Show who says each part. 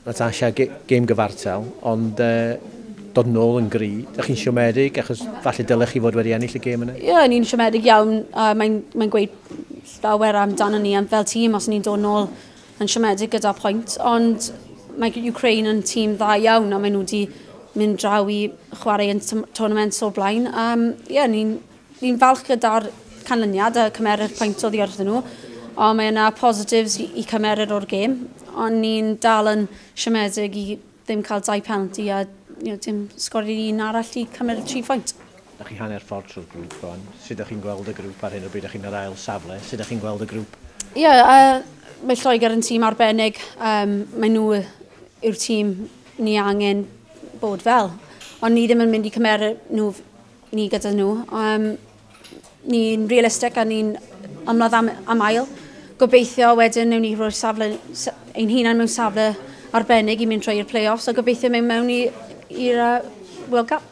Speaker 1: Natasha, gêm gyfartal, ond dod nôl yn gry. Ydych chi'n siomedig, achos falle dylech chi fod wedi ennill y gêm yna?
Speaker 2: Ie, yeah, ni'n siomedig iawn. Mae'n gweud llawer amdano ni am fel tîm os ni'n dod nôl yn siomedig gyda pwynt, ond mae Ukraine yn tîm dda iawn a maen nhw wedi mynd draw i chwarae yn tournaments o'r blaen. Yeah, ni'n falch gyda'r canlyniad a cymeru'r pwynt oddi wrthyn nhw, ond mae yna positives i cymeryd o'r gêm, ond ni'n dal yn siomedig i ddim cael 2 penalty a dim sgori un arall i cymryd 3 pwynt.
Speaker 1: Ydych chi hanner ffordd trwy'r grŵp rwan. Sut ydych chi'n gweld y grŵp ar hyn o bryd? Ydych chi'n yr ail safle? Sut ydych chi'n gweld y grŵp?
Speaker 2: Ie, yeah, mae Lloegr yn tîm arbennig. Mae nhw yw'r tîm ni angen bod fel. Ond ni ddim yn mynd i cymeryd nhw, ni gyda nhw. Ni'n realistig a ni'n ymladd am ail. Gobeithio wedyn newn ni rhoi safle, ein hunan mewn safle arbennig i mynd trwy'r play-offs a gobeithio mewn i'r World Cup.